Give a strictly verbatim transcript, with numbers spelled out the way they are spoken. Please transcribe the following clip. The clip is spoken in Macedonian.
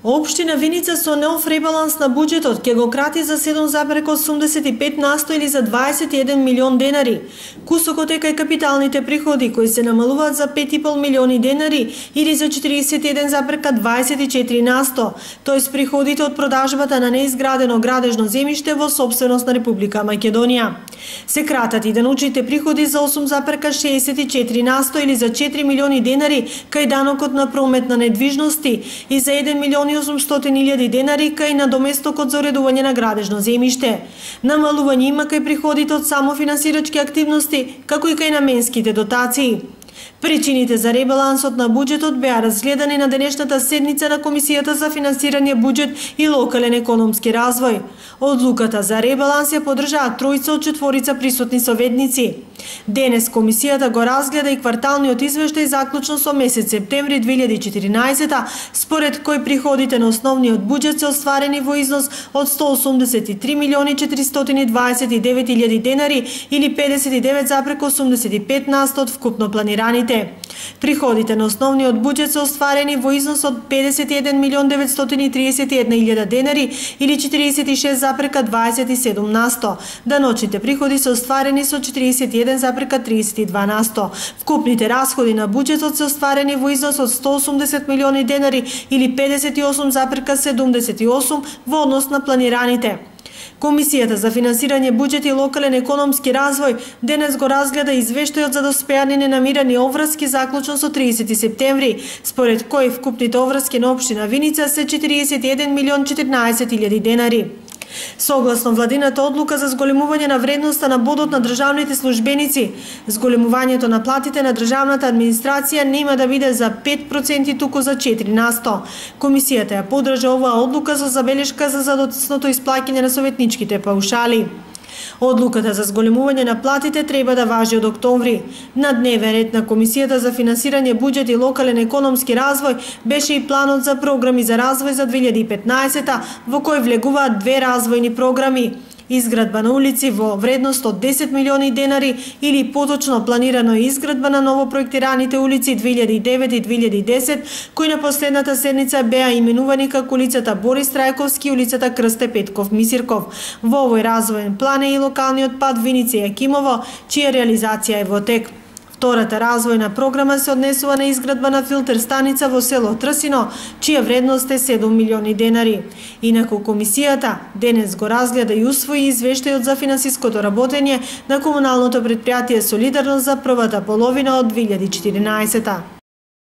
Општина Виница со нов ребаланс на буџетот ќе го крати за седум зарез осумдесет и пет на сто или за дваесет и еден милион денари. Кусокот е кај капиталните приходи кои се намалуваат за пет и пол милиони денари или за четиридесет и еден зарез дваесет и четири на сто, тоест приходите од продажбата на неизградено градежно земјиште во сопственост на Република Македонија. Се кратат и деночните приходи за осум зарез шеесет и четири на сто или за четири милиони денари кај данокот на промет на недвижности и за еден милион и осумстотини илјади денари кај надоместокот за уредување на градежно земјиште. Намалување има кај приходите од самофинансирачки активности, како и кај наменските дотации. Причините за ребалансот на буџетот беа разгледани на денешната седница на Комисијата за финансирање буџет и локален економски развој. Одлуката за ребаланс ја поддржаа тројца од четворица присутни советници. Денес Комисијата го разгледа и кварталниот извештај заклучно со месец септември две илјади и четиринаесета, според кој приходите на основниот буџет се остварени во износ од сто осумдесет и три милиони четиристотини дваесет и девет илјади денари или педесет и девет зарез осумдесет и пет на сто од вкупно планираните. Приходите на основниот буџет се остварени во износ од педесет и еден милион деветстотини и триесет и една илјада денари или четириесет и шест зарез дваесет и седум на сто. Даночните приходи се остварени со четириесет и еден зарез триесет и два на сто. Вкупните расходи на буџетот се остварени во износ од сто осумдесет милиони денари или педесет и осум зарез седумдесет и осум во однос на планираните. Комисијата за финансирање буџет и локален економски развој денес го разгледа извештајот за доспеани ненамирани оврски заклучно со тридесети септември, според кој вкупните оврски на општина Виница се четириесет и еден милион четирнаесет илјади денари. Согласно владината одлука за зголемување на вредноста на бодот на државните службеници, зголемувањето на платите на државната администрација нема да биде за пет проценти туку за четири на сто. Комисијата ја поддржа оваа одлука со забелешка за задоцното исплаќање на советничките паушали. Одлуката за зголемување на платите треба да важи од октомври. На дневен ред на Комисијата за финансирање буџет и локален економски развој беше и планот за програми за развој за две илјади и петнаесета, во кој влегуваат две развојни програми: изградба на улици во вредност од десет милиони денари или поточно планирано изградба на новопроектираните улици две илјади и девет и две илјади и десет, кои на последната седница беа именувани како улицата Борис Трајковски и улицата Крсте Петков Мисирков. Во овој развоен план е и локалниот пат Виница Јакимово, чија реализација е во тек. Втората развојна програма се однесува на изградба на филтер станица во село Трсино, чија вредност е седум милиони денари. Инаку Комисијата денес го разгледа и усвои извештајот за финансиското работење на комуналното претпријатие Солидарност за првата половина од две илјади и четиринаесета.